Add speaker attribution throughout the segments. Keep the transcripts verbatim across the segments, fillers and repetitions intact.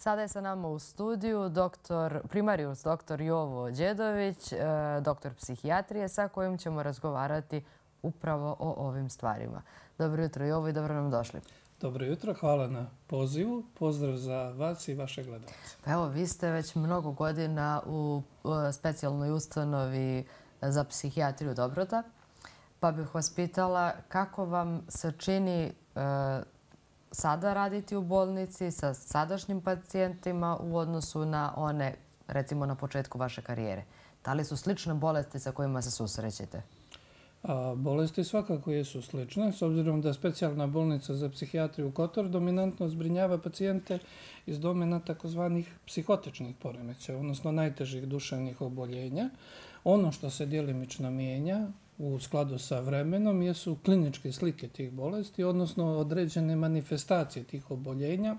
Speaker 1: Sada je sa nama u studiju doktor, primarijus doktor Jovo Đedović, doktor psihijatrije, sa kojim ćemo razgovarati upravo o ovim stvarima. Dobro jutro, Jovo, i dobro nam došli.
Speaker 2: Dobro jutro, hvala na pozivu. Pozdrav za vas i vaše gledalce.
Speaker 1: Pa evo, vi ste već mnogo godina u specijalnoj ustanovi za psihijatriju Dobrota, pa bih vas pitala kako vam se čini sada raditi u bolnici sa sadašnjim pacijentima u odnosu na one, recimo, na početku vaše karijere. Da li su slične bolesti sa kojima se susrećete?
Speaker 2: Bolesti svakako jesu slične, s obzirom da specijalna bolnica za psihijatriju Kotor dominantno zbrinjava pacijente iz domena takozvanih psihotičnih poremećaja, odnosno najtežih duševnih oboljenja. Ono što se djelimično mijenja u skladu sa vremenom jesu kliničke slike tih bolesti, odnosno određene manifestacije tih oboljenja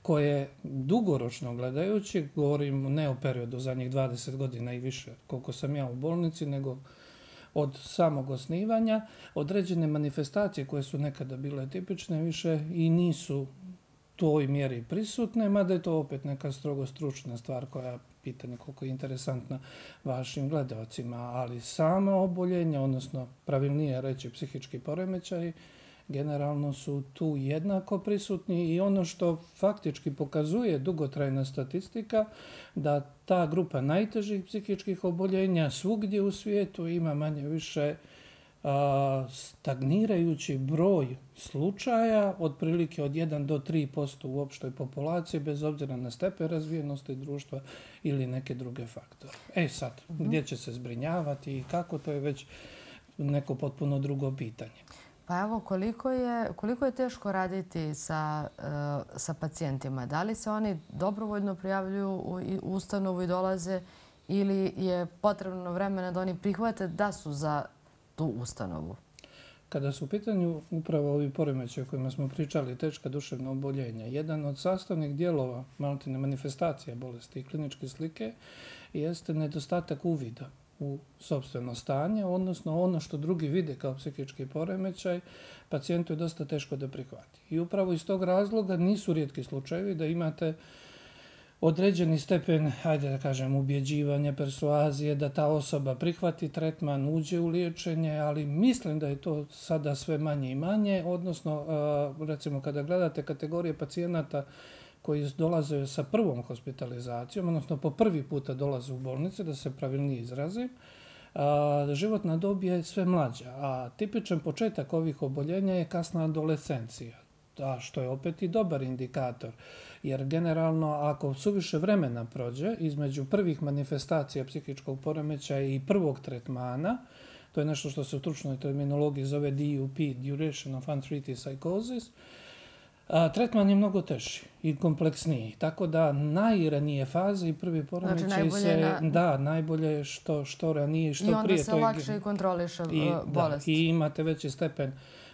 Speaker 2: koje dugoročno gledajući, govorim ne o periodu zadnjih dvadeset godina i više koliko sam ja u bolnici, nego od samog osnivanja, određene manifestacije koje su nekada bile tipične više i nisu toj mjeri prisutne, mada je to opet neka strogo stručna stvar koja pitanje koliko je interesantna vašim gledalcima, ali sama oboljenja, odnosno pravilnije reći psihički poremećaji, generalno su tu jednako prisutni i ono što faktički pokazuje dugotrajna statistika da ta grupa najtežih psihičkih oboljenja svugdje u svijetu ima manje više a, stagnirajući broj slučaja, otprilike od jedan do tri posto u opštoj populaciji, bez obzira na stepen razvijenosti društva ili neke druge faktore. E sad, uh-huh. gdje će se zbrinjavati i kako, to je već neko potpuno drugo pitanje.
Speaker 1: Pa evo, koliko je, koliko je teško raditi sa, uh, sa pacijentima? Da li se oni dobrovoljno prijavljuju u ustanovu i dolaze ili je potrebno vremena da oni prihvate da su za tu ustanovu?
Speaker 2: Kada su u pitanju upravo ovi poremećaji o kojima smo pričali, teška duševna oboljenja, jedan od sastavnih dijelova maltene manifestacija bolesti i kliničke slike jeste nedostatak uvida u sopstveno stanje, odnosno ono što drugi vide kao psihički poremećaj, pacijentu je dosta teško da prihvati. I upravo iz tog razloga nisu rijetki slučajevi da imate određeni stepen, hajde da kažem, ubjeđivanja, persuazije, da ta osoba prihvati tretman, uđe u liječenje, ali mislim da je to sada sve manje i manje, odnosno, recimo, kada gledate kategorije pacijenata koji dolaze sa prvom hospitalizacijom, odnosno po prvi puta dolaze u bolnice, da se pravilnije izrazim, životna dob je sve mlađa, a tipičan početak ovih oboljenja je kasna adolescencija, što je opet i dobar indikator, jer generalno ako suviše vremena prođe između prvih manifestacija psihičkog poremećaja i prvog tretmana, to je nešto što se u stručnoj terminologiji zove D U P, Duration of Untreated Psychosis, A, tretman je mnogo teži i kompleksniji, tako da najranije faze i prvi poremećaj
Speaker 1: znači,
Speaker 2: se...
Speaker 1: Na...
Speaker 2: Da, najbolje je što, što ranije i što prije.
Speaker 1: I onda
Speaker 2: prije,
Speaker 1: se lakše i kontroliše
Speaker 2: i,
Speaker 1: bolest.
Speaker 2: Da, i imate veći stepen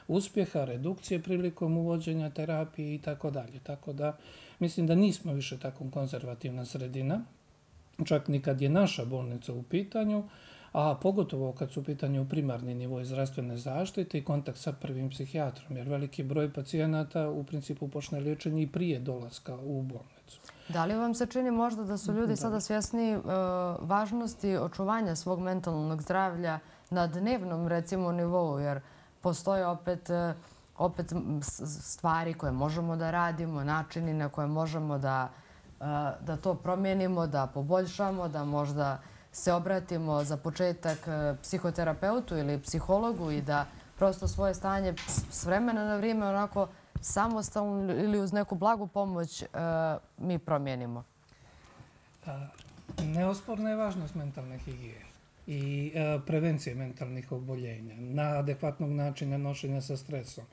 Speaker 2: uspjeha, redukcije prilikom uvođenja terapije i tako dalje. Tako da mislim da nismo više tako konzervativna sredina, čak ni kad je naša bolnica u pitanju, a pogotovo kad su u pitanju primarni nivoj zdravstvene zaštite i kontakt sa prvim psihijatrom, jer veliki broj pacijenata u principu počne liječenje i prije dolaska u bolnicu.
Speaker 1: Da li vam se čini možda da su ljudi da. sada svjesni uh, važnosti očuvanja svog mentalnog zdravlja na dnevnom, recimo, nivou, jer postoje opet, uh, opet stvari koje možemo da radimo, načini na koje možemo da, uh, da to promijenimo, da poboljšamo, da možda se obratimo za početak psihoterapeutu ili psihologu i da prosto svoje stanje s vremena na vrijeme onako samostalno ili uz neku blagu pomoć mi promijenimo?
Speaker 2: Neosporna je važnost mentalne higijene i prevencije mentalnih oboljenja, na adekvatnog načina nošenja sa stresom.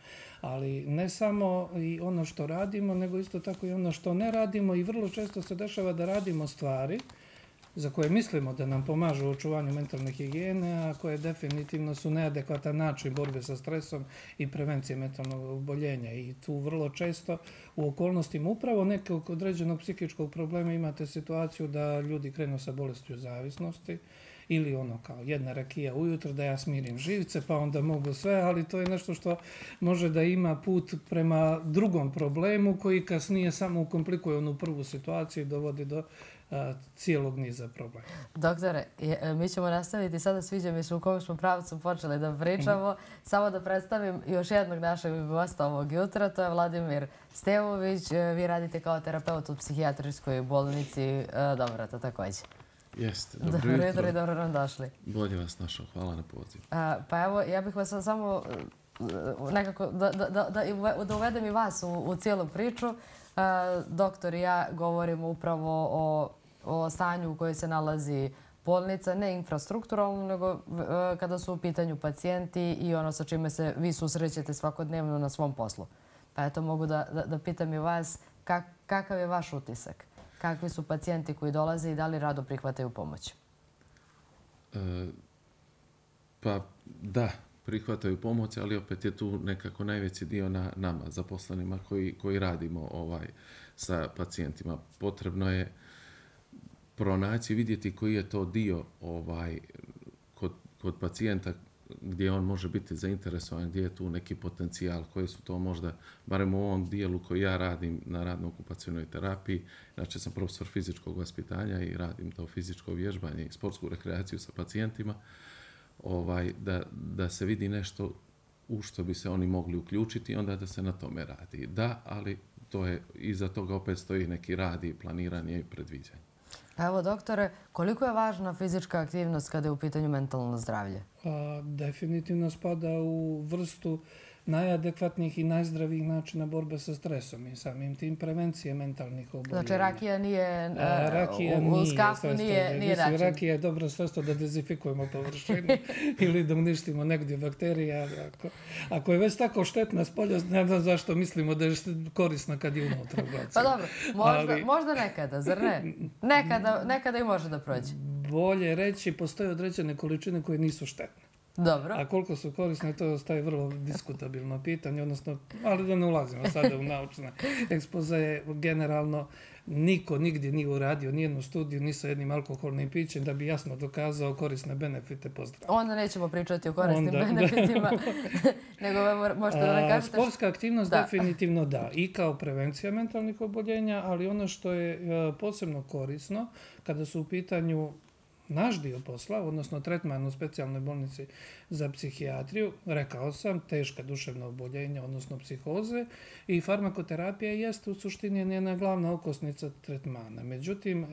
Speaker 2: Ali ne samo i ono što radimo, nego isto tako i ono što ne radimo i vrlo često se dešava da radimo stvari za koje mislimo da nam pomažu u očuvanju mentalne higijene, a koje definitivno su neadekvatan način borbe sa stresom i prevencije mentalnog oboljenja. I tu vrlo često u okolnostima upravo nekog određenog psihičkog problema imate situaciju da ljudi krenu sa bolestju zavisnosti ili ono kao jedna rakija ujutro da ja smirim živce, pa onda mogu sve, ali to je nešto što može da ima put prema drugom problemu koji kasnije samo ukomplikuje onu prvu situaciju i dovodi do a, cijelog niza problema.
Speaker 1: Doktore, je, mi ćemo nastaviti sada, sviđa mi se u kom smo pravcu počeli da pričamo. Mm. Samo da predstavim još jednog našeg gosta ovog jutra, to je Vladimir Stevović. Vi radite kao terapeut u psihijatrijskoj bolnici. Dobro, to također.
Speaker 3: Jeste,
Speaker 1: dobro, dobro jutro. I dobro nam došli.
Speaker 3: Bolje vas našao, hvala na pozivu.
Speaker 1: Pa evo, ja bih vas samo nekako da, da, da, da uvedem i vas u, u cijelu priču. Doktor i ja govorimo upravo o, o stanju u kojoj se nalazi bolnica, ne infrastrukturalno, nego kada su u pitanju pacijenti i ono sa čime se vi susrećete svakodnevno na svom poslu. Pa eto, mogu da, da, da pitam i vas kak, kakav je vaš utisak? Kakvi su pacijenti koji dolaze i da li rado prihvataju pomoć?
Speaker 3: E, pa da, prihvataju pomoć, ali opet je tu nekako najveći dio na nama, zaposlenima koji, koji radimo ovaj, sa pacijentima. Potrebno je pronaći, vidjeti koji je to dio ovaj, kod, kod pacijenta gdje on može biti zainteresovan, gdje je tu neki potencijal, koji su to možda, barem u ovom dijelu koji ja radim na radno-okupacionoj terapiji. Znači, sam profesor fizičkog vaspitanja i radim to fizičko vježbanje i sportsku rekreaciju sa pacijentima. Ovaj, da, da se vidi nešto u što bi se oni mogli uključiti i onda da se na tome radi. Da, ali to je, iza toga opet stoji neki rad i planiranje i predviđanje.
Speaker 1: Evo, doktore, koliko je važna fizička aktivnost kada je u pitanju mentalno zdravlje?
Speaker 2: A, definitivno spada u vrstu najadekvatnijih i najzdravijih načina borbe sa stresom i samim tim prevencije mentalnih oboljenja.
Speaker 1: Znači, rakija nije,
Speaker 2: A, rakija
Speaker 1: u, u skafu nije, nije, nije način.
Speaker 2: Rakija je dobro sredstvo da dezinfikujemo površinu ili da uništimo negdje bakterije. Ako, ako je već tako štetna spolja, ne znam zašto mislimo da je korisna kad je unutra.
Speaker 1: Pa dobro, možda, ali, možda nekada, zar ne? Nekada, nekada i može da prođe.
Speaker 2: Bolje reći, postoje određene količine koje nisu štetne.
Speaker 1: Dobro.
Speaker 2: A koliko su korisne, to ostaje vrlo diskutabilno pitanje, odnosno, ali da ne ulazimo sada u naučne ekspoze. Generalno, niko nigdje nije uradio nijednu studiju ni sa jednim alkoholnim pićem da bi jasno dokazao korisne benefite po zdravlju.
Speaker 1: Onda nećemo pričati o korisnim Onda, benefitima, nego možete da ne kažete...
Speaker 2: Sportska aktivnost da. definitivno da, i kao prevencija mentalnih oboljenja, ali ono što je posebno korisno kada su u pitanju naš dio posla, odnosno tretman u specijalnoj bolnici za psihijatriju, rekao sam, teška duševna oboljenja, odnosno psihoze, i farmakoterapija jeste u suštini njena glavna okosnica tretmana. Međutim,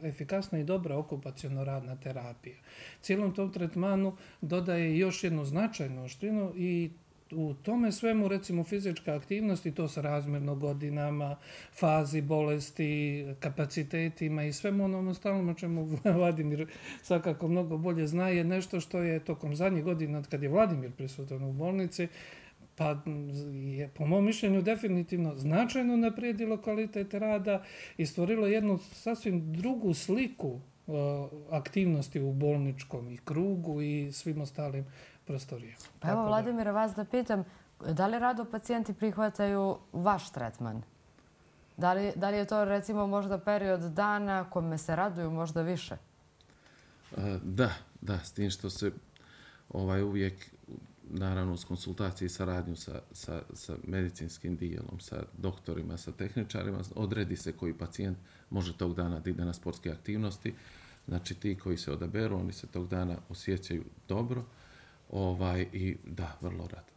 Speaker 2: efikasna i dobra okupaciono-radna terapija cijelom tom tretmanu dodaje još jednu značajnu oštrinu i u tome svemu, recimo, fizička aktivnost i to sa razmjerno godinama, fazi bolesti, kapacitetima i svemu onom ostalom o čemu Vladimir svakako mnogo bolje zna, je nešto što je tokom zadnjih godina, kad je Vladimir prisutan u bolnici, pa je, po mom mišljenju, definitivno značajno naprijedilo kvalitet rada i stvorilo jednu sasvim drugu sliku aktivnosti u bolničkom i krugu i svim ostalim prostorijama.
Speaker 1: Pa evo, Vladimira, vas da pitam, da li rado pacijenti prihvataju vaš tretman? Da li, da li je to, recimo, možda period dana kome se raduju možda više?
Speaker 3: Da, da, s tim što se ovaj, uvijek, naravno, s konsultacije i saradnju sa, sa, sa medicinskim dijelom, sa doktorima, sa tehničarima, odredi se koji pacijent može tog dana da ide na sportske aktivnosti. Znači, ti koji se odaberu, oni se tog dana osjećaju dobro. Ovaj, i da, vrlo rado.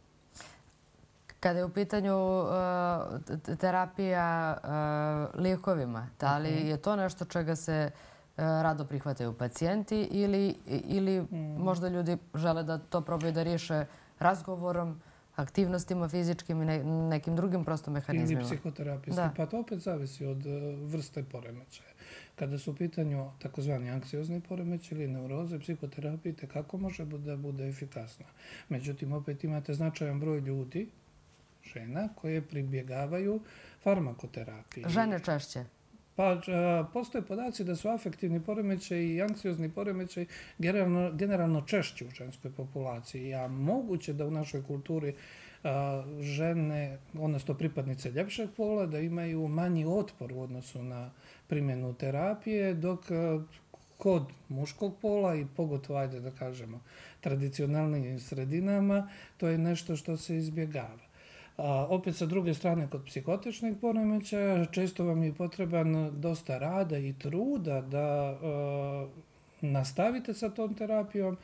Speaker 1: Kada je u pitanju uh, terapija uh, lijekovima, da li je to nešto čega se uh, rado prihvataju pacijenti ili, ili mm. možda ljudi žele da to probaju da riješe razgovorom, aktivnostima fizičkim i ne, nekim drugim prosto mehanizmima?
Speaker 2: Ili psihoterapijskim. Pa to opet zavisi od vrste poremećaja. Kada su u pitanju takozvani anksiozni poremećaj ili neuroze, psihoterapija kako može da bude efikasna. Međutim, opet imate značajan broj ljudi, žena, koje pribjegavaju farmakoterapiji.
Speaker 1: Žene češće?
Speaker 2: Pa postoje podaci da su afektivni poremećaj i anksiozni poremećaj generalno, generalno češći u ženskoj populaciji. A moguće da u našoj kulturi a, žene, odnosno pripadnice ljepšeg pola, da imaju manji otpor u odnosu na primjenu terapije, dok kod muškog pola i pogotovo, ajde da kažemo, tradicionalnim sredinama, to je nešto što se izbjegava. A, opet sa druge strane, kod psihotičnih poremećaja često vam je potreban dosta rada i truda da a, nastavite sa tom terapijom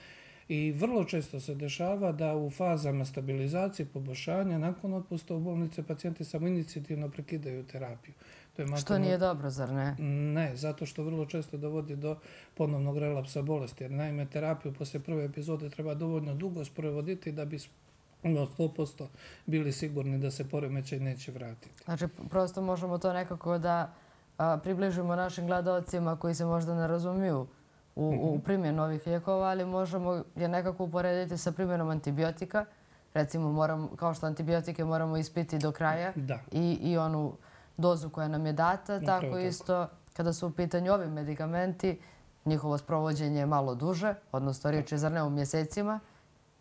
Speaker 2: i vrlo često se dešava da u fazama stabilizacije, poboljšanja, nakon otpusta u bolnice, pacijenti samoinicijativno prekidaju terapiju. To je
Speaker 1: što nije dobro, zar ne?
Speaker 2: Ne, zato što vrlo često dovodi do ponovnog relapsa bolesti. Jer naime, terapiju posle prve epizode treba dovoljno dugo sprovoditi da bi sto posto bili sigurni da se poremećaj neće vratiti.
Speaker 1: Znači, prosto možemo to nekako da a, približimo našim gledalcima koji se možda ne razumiju u, mm-hmm. u primjenu ovih lijekova, ali možemo je nekako uporediti sa primjenom antibiotika. Recimo, moram, kao što antibiotike moramo ispiti do kraja i, i onu dozu koja nam je data,
Speaker 2: Upravo
Speaker 1: tako,
Speaker 2: tako
Speaker 1: isto kada su u pitanju ovi medikamenti, njihovo sprovođenje je malo duže, odnosno riječ je zar ne u mjesecima,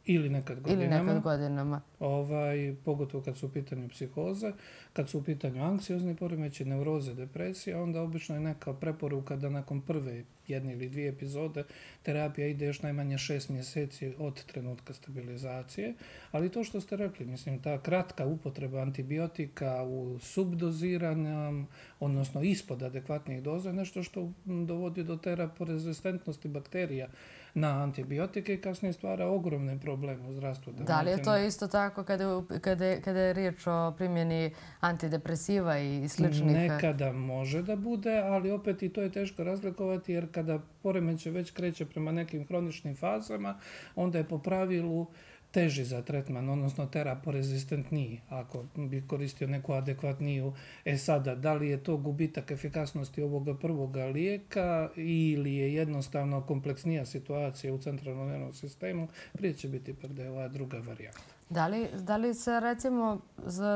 Speaker 2: ili nekad godinama.
Speaker 1: Ili nekad godinama.
Speaker 2: Ovaj, pogotovo kad su u pitanju psihoze, kad su u pitanju anksiozni poremećaji, neuroze, depresija, onda obično je neka preporuka da nakon prve jedne ili dvije epizode terapija ide još najmanje šest mjeseci od trenutka stabilizacije. Ali to što ste rekli, mislim, ta kratka upotreba antibiotika u subdoziranju, odnosno ispod adekvatnih doza, nešto što dovodi do teraporezistentnosti bakterija na antibiotike i kasnije stvara ogromne probleme u zdravstvu.
Speaker 1: Da li je to isto tako kada, kada, kada je riječ o primjeni antidepresiva i sličnih?
Speaker 2: Nekada može da bude, ali opet i to je teško razlikovati jer kada poremećaj već kreće prema nekim hroničnim fazama, onda je po pravilu teži za tretman, odnosno teraporezistentniji, ako bi koristio neku adekvatniju. E sada, da li je to gubitak efikasnosti ovoga prvoga lijeka ili je jednostavno kompleksnija situacija u centralnom nervnom sistemu, prije će biti ipak da je ova druga varijanta.
Speaker 1: Da li, da li se recimo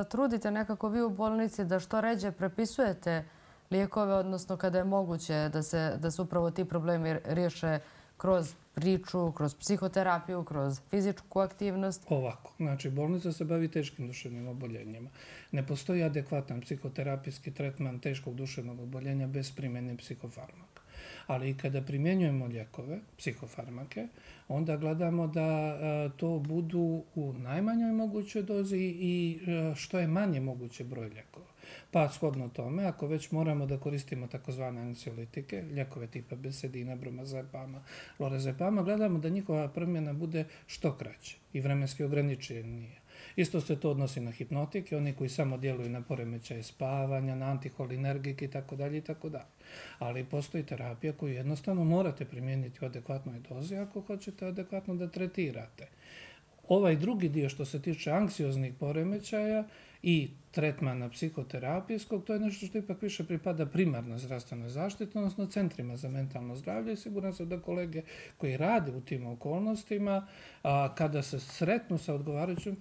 Speaker 1: trudite nekako vi u bolnici da što ređe prepisujete lijekove, odnosno kada je moguće da se, da se upravo ti problemi riješe kroz priču, kroz psihoterapiju, kroz fizičku aktivnost?
Speaker 2: Ovako, znači bolnica se bavi teškim duševnim oboljenjima. Ne postoji adekvatan psihoterapijski tretman teškog duševnog oboljenja bez primjene psihofarmaka. Ali i kada primjenjujemo lijekove, psihofarmake, onda gledamo da a, to budu u najmanjoj mogućoj dozi i a, što je manje moguće broj lijekova. Pa shodno tome, ako već moramo da koristimo takozvane anksiolitike, lijekove tipa besedina, bromazepama, lorazepama, gledamo da njihova primjena bude što kraće i vremenski ograničenija. Isto se to odnosi na hipnotike, oni koji samo djeluju na poremećaje spavanja, na antiholinergike itd. itd. Ali postoji terapija koju jednostavno morate primijeniti u adekvatnoj dozi ako hoćete adekvatno da tretirate. Ovaj drugi dio što se tiče anksioznih poremećaja i tretmana psihoterapijskog, to je nešto što ipak više pripada primarnoj zdravstvenoj zaštiti, odnosno centrima za mentalno zdravlje i siguran sam da kolege koji rade u tim okolnostima, a, kada se sretnu sa odgovarajućom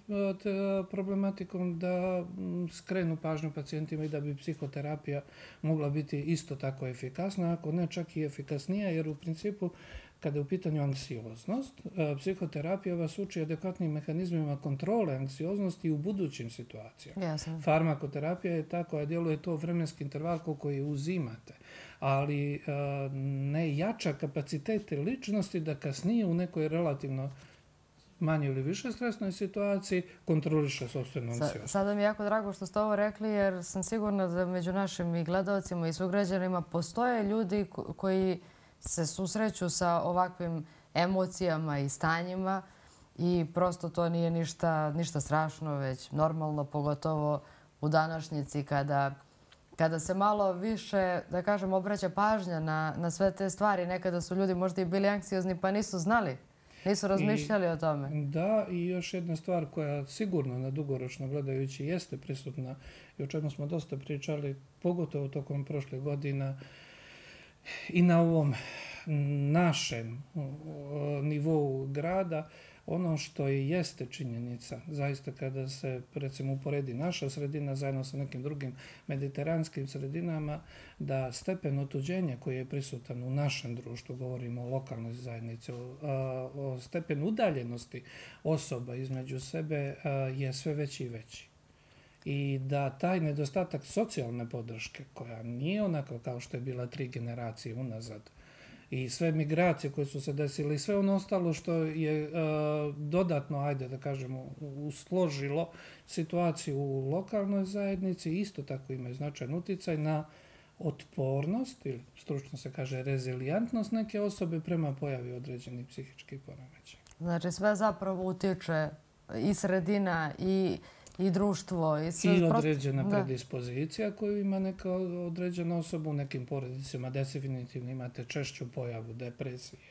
Speaker 2: problematikom, da m, skrenu pažnju pacijentima i da bi psihoterapija mogla biti isto tako efikasna, ako ne čak i efikasnija, jer u principu kada je u pitanju anksioznost, psihoterapija vas uči adekvatnim mehanizmima kontrole anksioznosti i u budućim situacijama.
Speaker 1: Jasno.
Speaker 2: Farmakoterapija je ta koja djeluje to vremenski interval koji uzimate, ali ne jača kapacitete ličnosti da kasnije u nekoj relativno manje ili više stresnoj situaciji kontroliše sopstvenu anksioznost.
Speaker 1: Sada mi je jako drago što ste ovo rekli, jer sam sigurna da među našim i gledalcima i sugrađanima postoje ljudi koji se susreću sa ovakvim emocijama i stanjima i prosto to nije ništa, ništa strašno, već normalno, pogotovo u današnjici kada, kada se malo više, da kažem, obraća pažnja na, na sve te stvari. Nekada su ljudi možda i bili anksiozni pa nisu znali, nisu razmišljali
Speaker 2: I,
Speaker 1: o tome.
Speaker 2: Da, i još jedna stvar koja sigurno na dugoročno gledajući jeste prisutna i o čemu smo dosta pričali, pogotovo tokom prošle godina, i na ovom našem nivou grada, ono što i jeste činjenica, zaista kada se recimo uporedi naša sredina zajedno sa nekim drugim mediteranskim sredinama, da stepen otuđenja koji je prisutan u našem društvu, govorimo o lokalnoj zajednici, o, o stepenu udaljenosti osoba između sebe je sve veći i veći. I da taj nedostatak socijalne podrške, koja nije onako kao što je bila tri generacije unazad, i sve migracije koje su se desile i sve ono ostalo što je uh, dodatno, ajde da kažemo, usložilo situaciju u lokalnoj zajednici, isto tako imaju značajan utjecaj na otpornost ili stručno se kaže rezilijentnost neke osobe prema pojavi određenih psihičkih poremećaja.
Speaker 1: Znači sve zapravo utiče i sredina i i društvo. I, sve,
Speaker 2: I određena prosto, predispozicija koju ima neka određena osoba. U nekim porodicama definitivno imate češću pojavu depresije,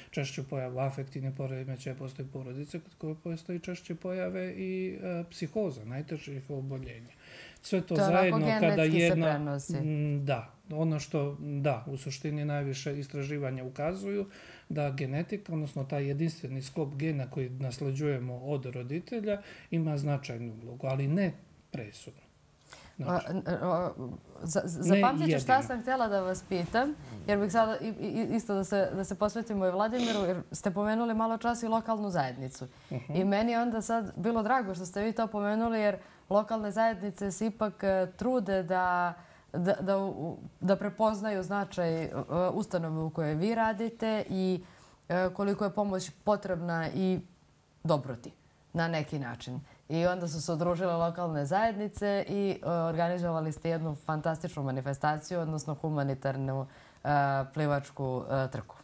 Speaker 2: češću pojavu afektivne poremećaja, postoji porodice kod koje postoji češće pojave i e, psihoza, najtežih oboljenja. Sve to, to zajedno kada jedna... Da, ono što, da, u suštini najviše istraživanja ukazuju da genetika, odnosno taj jedinstveni sklop gena koji nasleđujemo od roditelja, ima značajnu ulogu, ali ne presudnu. Znači,
Speaker 1: zapamtit ću šta sam htjela da vas pitam, jer bih sada isto da se, da se posvetimo i Vladimiru, jer ste pomenuli malo čas i lokalnu zajednicu. Uh-huh. I meni je onda sad bilo drago što ste vi to pomenuli, jer lokalne zajednice se ipak trude da Da, da, da prepoznaju značaj ustanove u kojoj vi radite i koliko je pomoć potrebna i dobroti na neki način. I onda su se udružile lokalne zajednice i organizovali ste jednu fantastičnu manifestaciju, odnosno humanitarnu plivačku trku.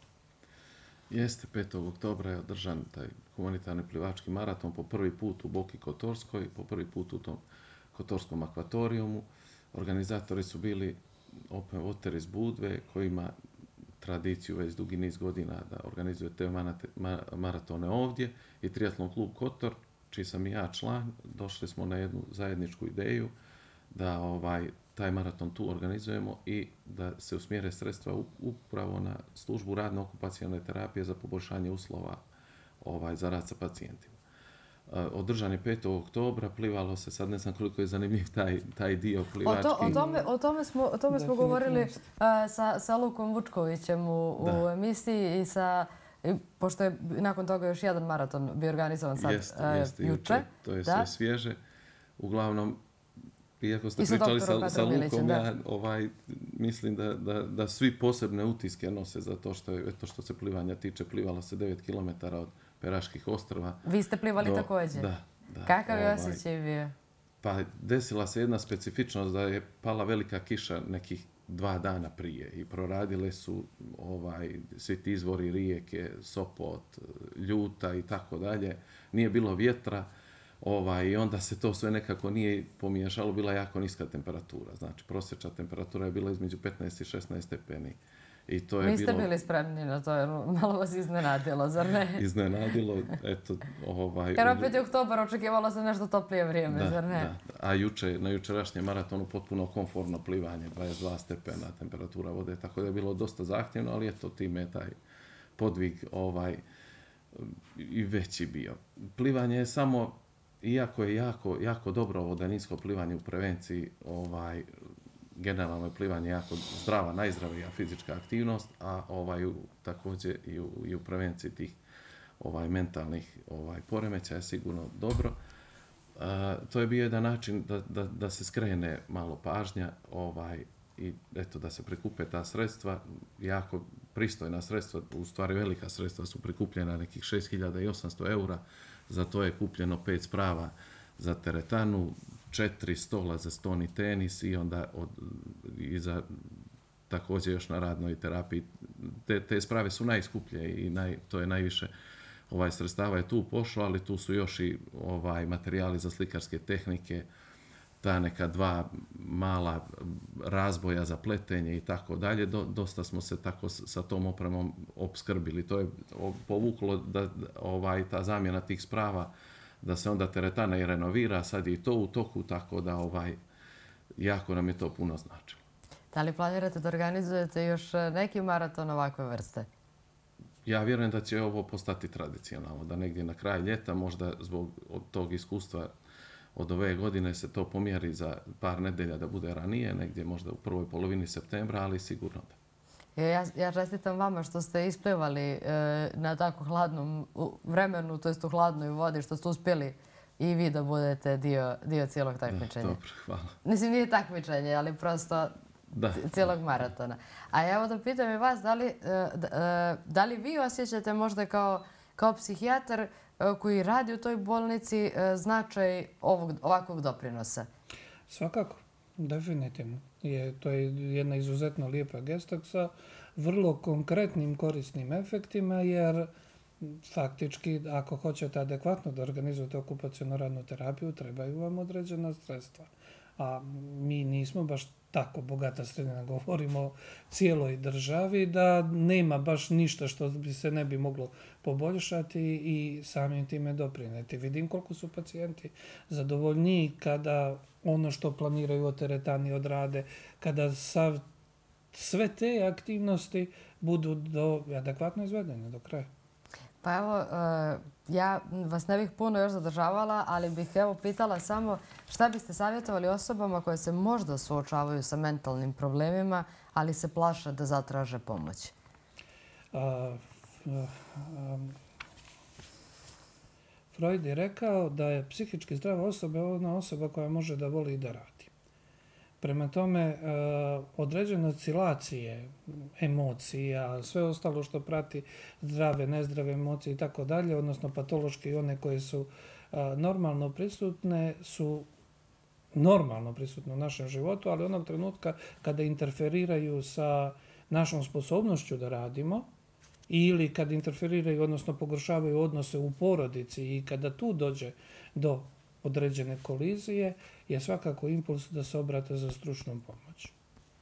Speaker 3: Jeste, petog oktobra je održan taj humanitarni plivački maraton po prvi put u Boki Kotorskoj, po prvi put u tom Kotorskom akvatorijumu. Organizatori su bili Open Water iz Budve, koji ima tradiciju već dugi niz godina da organizuje te maratone ovdje, i Triatlon klub Kotor, čiji sam i ja član. Došli smo na jednu zajedničku ideju da ovaj taj maraton tu organizujemo i da se usmjere sredstva upravo na službu radno-okupacijalne terapije za poboljšanje uslova ovaj, za rad sa pacijentima. Održan je petog oktobra, plivalo se, sad ne znam koliko je zanimljiv taj, taj dio plivački.
Speaker 1: O, to, o tome, o tome smo, o tome smo govorili uh, sa, sa Lukom Vučkovićem u, u emisiji i sa, i, pošto je nakon toga još jedan maraton bio organizovan sad
Speaker 3: jeste,
Speaker 1: uh,
Speaker 3: jeste,
Speaker 1: juče.
Speaker 3: To je
Speaker 1: da?
Speaker 3: sve svježe. Uglavnom, iako ste pričali sa, sa Lukom, ja ovaj, mislim da, da, da svi posebne utiske nose za to što, je, eto što se plivanja tiče. Plivalo se devet kilometara od Peraških ostrva.
Speaker 1: Vi ste plivali
Speaker 3: do,
Speaker 1: također?
Speaker 3: Da. da
Speaker 1: Kakav je
Speaker 3: ovaj,
Speaker 1: osjećaj bio?
Speaker 3: Pa desila se jedna specifičnost da je pala velika kiša nekih dva dana prije i proradile su ovaj, svi ti izvori rijeke, Sopot, Ljuta i tako dalje. Nije bilo vjetra. Ovaj, I onda se to sve nekako nije pomiješalo, bila jako niska temperatura. Znači, prosječna temperatura je bila između petnaest i šesnaest stepeni. I to je
Speaker 1: Niste
Speaker 3: bilo...
Speaker 1: bili spremni na to, jer malo vas iznenadilo, zar ne?
Speaker 3: Iznenadilo, eto, ovaj...
Speaker 1: Jer opet je oktobar, očekivalo se nešto toplije vrijeme,
Speaker 3: da,
Speaker 1: zar ne?
Speaker 3: Da, a juče, na jučerašnjem maratonu potpuno komfortno plivanje, dvadeset dva stepena temperatura vode, tako da je bilo dosta zahtjevno, ali eto, time je taj podvig ovaj, i veći bio. Plivanje je samo, iako je jako, jako dobro ovo daljinsko plivanje u prevenciji, ovaj, generalno je plivanje jako zdrava, najzdravija fizička aktivnost, a ovaj, također i u, i u prevenciji tih ovaj, mentalnih ovaj, poremećaja je sigurno dobro. A, to je bio jedan način da, da, da se skrene malo pažnja ovaj, i eto, da se prikupe ta sredstva, jako pristojna sredstva, u stvari velika sredstva su prikupljena, nekih šest hiljada osamsto eura, za to je kupljeno pet sprava za teretanu, četiri stola za stoni tenis i onda od, i za također još na radnoj terapiji. Te, te sprave su najskuplje i naj, to je najviše ovaj, sredstava je tu pošlo, ali tu su još i ovaj, materijali za slikarske tehnike, ta neka dva mala razboja za pletenje i tako dalje. Dosta smo se tako sa tom opremom opskrbili. To je povuklo da ovaj, ta zamjena tih sprava da se onda teretana i renovira, sad je i to u toku, tako da ovaj, jako nam je to puno značilo.
Speaker 1: Da li planirate da organizujete još neki maraton ovakve vrste?
Speaker 3: Ja vjerujem da će ovo postati tradicionalno, da negdje na kraj ljeta, možda zbog od tog iskustva od ove godine se to pomjeri za par nedelja da bude ranije, negdje možda u prvoj polovini septembra, ali sigurno da.
Speaker 1: Ja, ja čestitam vama što ste isplivali e, na tako hladnom vremenu, to jest u hladnoj vodi, što ste uspjeli i vi da budete dio, dio cijelog takmičenja.
Speaker 3: Da, dobro, hvala.
Speaker 1: Mislim, nije takmičenje, ali prosto cijelog maratona. A evo da pitam i vas, da li vi osjećate možda kao psihijatar koji radi u toj bolnici značaj ovakvog doprinosa?
Speaker 2: Svakako, definitivno. To je jedna izuzetno lijepa gesta sa vrlo konkretnim korisnim efektima, jer faktički, ako hoćete adekvatno da organizujete okupacionu radnu terapiju, trebaju vam određena sredstva. A mi nismo baš tako bogata sredina, govorimo o cijeloj državi, da nema baš ništa što bi se ne bi moglo poboljšati i samim time doprineti. Vidim koliko su pacijenti zadovoljniji kada ono što planiraju od teretani odrade, kada sav, sve te aktivnosti budu do, adekvatno izvedene do kraja.
Speaker 1: Pa evo, ja vas ne bih puno još zadržavala, ali bih evo pitala samo šta biste savjetovali osobama koje se možda suočavaju sa mentalnim problemima, ali se plaše da zatraže pomoć?
Speaker 2: A, a, a, Freud je rekao da je psihički zdrava osoba ona osoba koja može da voli i da radi. Prema tome, određene oscilacije, emocija, sve ostalo što prati zdrave, nezdrave emocije i tako dalje, odnosno patološke i one koje su normalno prisutne, su normalno prisutne u našem životu, ali onog trenutka kada interferiraju sa našom sposobnošću da radimo ili kad interferiraju, odnosno pogoršavaju odnose u porodici i kada tu dođe do određene kolizije, je svakako impuls da se obrate za stručnom pomoć.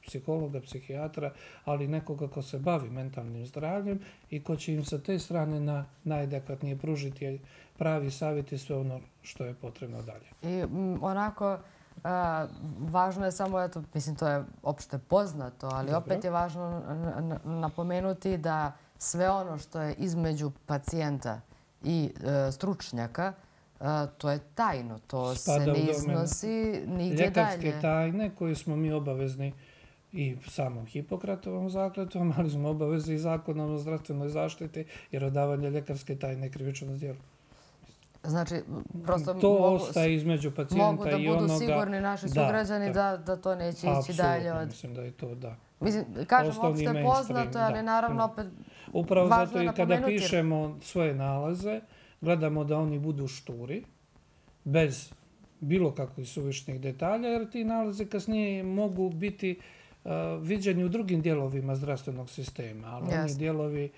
Speaker 2: Psihologa, psihijatra, ali nekoga ko se bavi mentalnim zdravljem i ko će im sa te strane na najadekvatnije pružiti pravi savjet i sve ono što je potrebno dalje.
Speaker 1: I onako, važno je samo, eto, mislim, to je opšte poznato, ali opet je važno napomenuti da sve ono što je između pacijenta i stručnjaka, to je tajno, to se ne iznosi nigdje dalje.
Speaker 2: Ljekarske tajne koje smo mi obavezni i samom Hipokratovom zakletvom, ali smo obavezni i zakonom o zdravstvenoj zaštiti, jer odavanje ljekarske tajne je krivično djelo.
Speaker 1: Znači, prosto
Speaker 2: to ostaje između pacijenta i onoga...
Speaker 1: Mogu da budu sigurni naši sugrađani da to neće ići dalje od...
Speaker 2: Apsolutno, mislim da je to da.
Speaker 1: Mislim, kažem, opšte je poznato, ali naravno opet važno je napomenuti.
Speaker 2: Upravo zato i kada pišemo svoje nalaze, gledamo da oni budu šturi, bez bilo kakvih suvišnih detalja, jer ti nalazi kasnije mogu biti viđeni u drugim dijelovima zdravstvenog sistema, ali oni dijelovi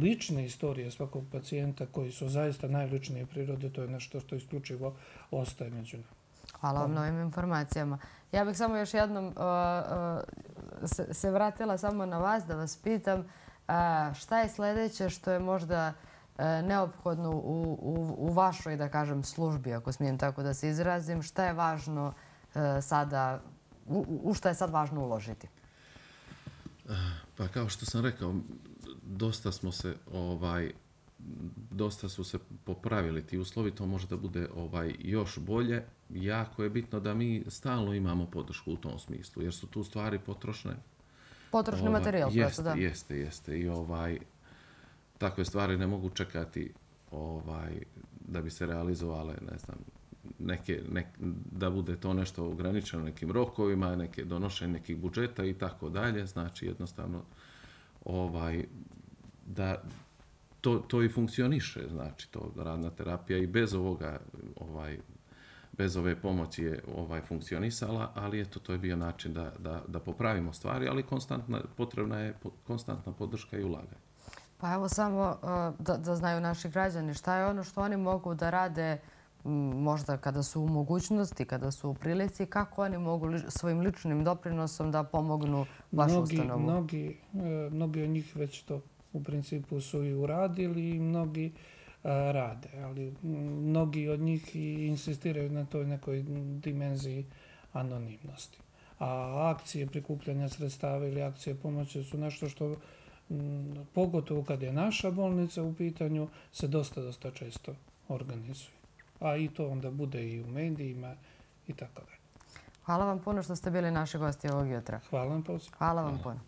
Speaker 2: lične istorije svakog pacijenta koji su zaista najličnije prirode, to je nešto što isključivo ostaje među nama.
Speaker 1: Hvala vam na ovim informacijama. Ja bih samo još jednom se vratila samo na vas da vas pitam šta je sljedeće što je možda neophodno u vašoj, da kažem, službi, ako smijem tako da se izrazim, šta je važno sada, u šta je sad važno uložiti?
Speaker 3: Pa kao što sam rekao, dosta smo se, ovaj, dosta su se popravili ti uslovi, to može da bude ovaj, još bolje. Jako je bitno da mi stalno imamo podršku u tom smislu, jer su tu stvari potrošne.
Speaker 1: Potrošni ovaj, materijal,
Speaker 3: jeste,
Speaker 1: da.
Speaker 3: Jeste, jeste. I ovaj, takve stvari ne mogu čekati ovaj, da bi se realizovale, ne znam, neke, nek, da bude to nešto ograničeno nekim rokovima, neke donošenje nekih budžeta i tako dalje. Znači, jednostavno, ovaj, da to, to i funkcioniše, znači, to radna terapija i bez ovoga, ovaj, bez ove pomoći je ovaj, funkcionisala, ali eto, to je bio način da, da, da popravimo stvari, ali konstantna, potrebna je konstantna podrška i ulaganje.
Speaker 1: Pa evo samo da, da znaju naši građani šta je ono što oni mogu da rade možda kada su u mogućnosti, kada su u prilici, kako oni mogu li, svojim ličnim doprinosom da pomognu vašu
Speaker 2: mnogi,
Speaker 1: ustanovu?
Speaker 2: Mnogi, mnogi od njih već to u principu su i uradili i mnogi a, rade, ali mnogi od njih i insistiraju na toj nekoj dimenziji anonimnosti. A akcije prikupljanja sredstava ili akcije pomoći su nešto što pogotovo kad je naša bolnica u pitanju, se dosta, dosta često organizuje. A i to onda bude i u medijima i tako dalje.
Speaker 1: Hvala vam puno što ste bili naši gosti ovog jutra.
Speaker 2: Hvala vam poziv.
Speaker 1: Hvala vam puno.